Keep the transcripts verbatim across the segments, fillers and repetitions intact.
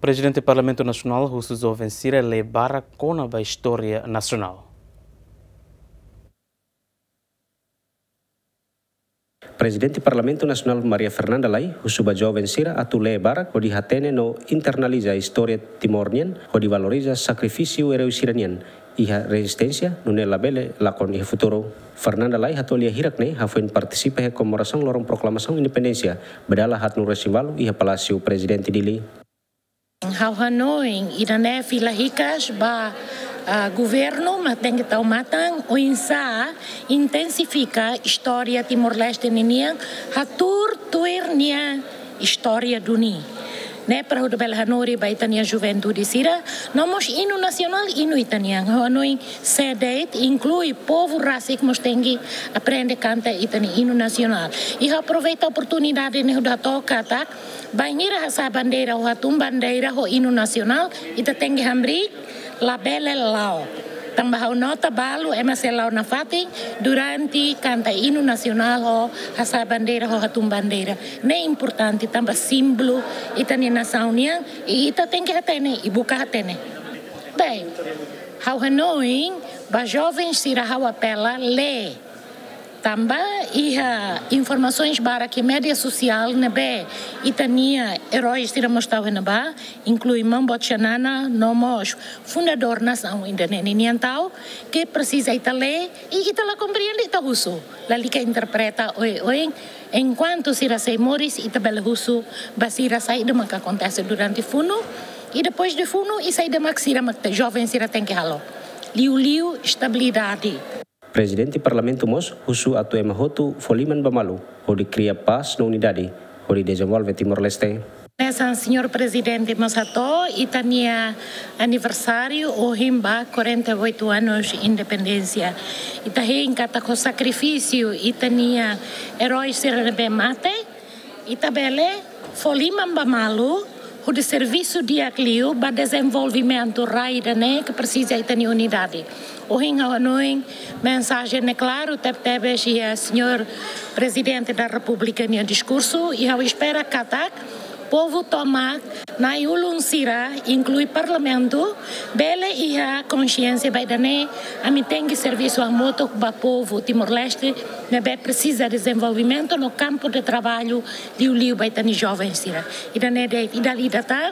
Prezidente Parlamentu Nasionál husu joven sira lee barak kona-ba istória nasionál. Prezidente Parlamentu Nasionál Maria Fernanda Lay husu ba joven sira atu lee barak hodi hatene no internaliza istória Timor nian, hodi valoriza sakrifísiu erói sira-nian iha rezisténsia, nune'e labele lakon iha futuru. Fernanda Lay hato'o lia hirak ne'e hafoin partisipa iha komemorasaun loron proklamasaun independénsia ba dala haat-nulu-resin-ualu iha Palásiu Prezidente Dili. Ha'u hanoin ida-ne'e fila hikas ba, ah, governu mak tenke tau matan oinsá intensifika istória Timor-Leste ninian, hatuur tuir nia istória duni. Ne'e para hodi bele hanorin ba ita-nia juventude sira, no mós inu nasionál, inu ita-nian. Ha'u hanoin sé de'it, inklui povu rasik mós tenke aprende kanta ita-nia inu nasionál. I ha'u aproveita oportunidade ne'e hodi hato'o katak, bainhira hasa'e bandeira ou hatún bandeira ho inu nasionál, ita tenke hamriik, labele la'o. Tanba ha'u nota balu ema sei la'o nafatin durante kanta inu nasionál ou hasa'e bandeira ou hatún bandeira. Ne'e importante tanba símbolu ita-nia nasaun nian, i ita tenke hatene, i buka hatene. Bem, ha'u hanoin ba joven sira ha'u apela lee. Tanba iha informasoens barak iha média sosiál ne'ebé ita-nia erói sira mós tau iha ne'ebá, inklui Maun Boot Xanana, no mós fundadór nasaun ida-ne'e ninian tau, ke presiza ita lee, i ita la komprende ita husu, lalika interpreta oioin, enkuantu sira sei moris, ita bele husu ba sira saida mak akontese durante funu, i depois de funu, i saida mak sira mak te-, joven sira tenke halo. Liuliu estabilidade. Prezidente Parlamentu mós husu atu ema hotu fó liman ba malu, hodi kria pás no unidade, hodi dezenvolve Timor-Leste. Hanesan Señór Prezidente mós hato'o, ita-nia aniversáriu ohin ba quarenta e oito anos independénsia. Ita hein katak ho sakrifísiu ita-nia erói sira ne'ebé mate, ita bele fó liman ba malu, hodi servisu di'ak liu ba dezenvolvimentu rai ida-ne'e ke presiza ita-nia unidade. Ohin ha'u hanoin mensajen ne'e klaru tebetebes iha Señór Prezidente da Repúblika nia diskursu, i ha'u espera katak povu tomak, na'i-ulun sira, inklui Parlamentu, bele iha konxiénsia ba ida-ne'e, ami tenke servisu hamutuk ba povu Timor-Leste ne'ebé presiza dezenvolvimentu no kampu de traballu liuliu ba ita-nia joven sira. Ida-ne'e de'it, i dala ida tan,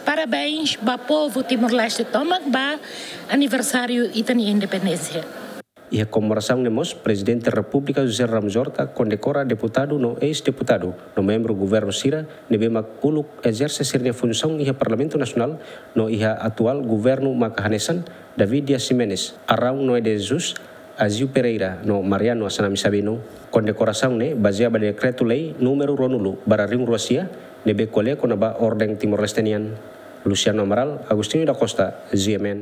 parabéns ba povu Timor-Leste tomak ba aniversáriu ita-nia independénsia. Iha komemorasaun ne'e mós, Prezidente Repúblika José Ramos Horta kondekora deputadu no eis-deputadu no membru governu sira ne'ebé mak uluk ezerse sira-nia funsaun iha Parlamentu Nasionál no iha atuál governu maka hanesan David Dias Ximenes, Arão Noé de Jesus, Azeu Pereira no Mariano Assanami Sabino. Kondekorasaun ne'e bazeia ba Dekretu-Lei númeru ruanulu barra rihun rua sia, ne'ebé ko'alia kona-ba orden Timor-Leste nian. Luciano Amaral, Agostinho da Costa, G M N.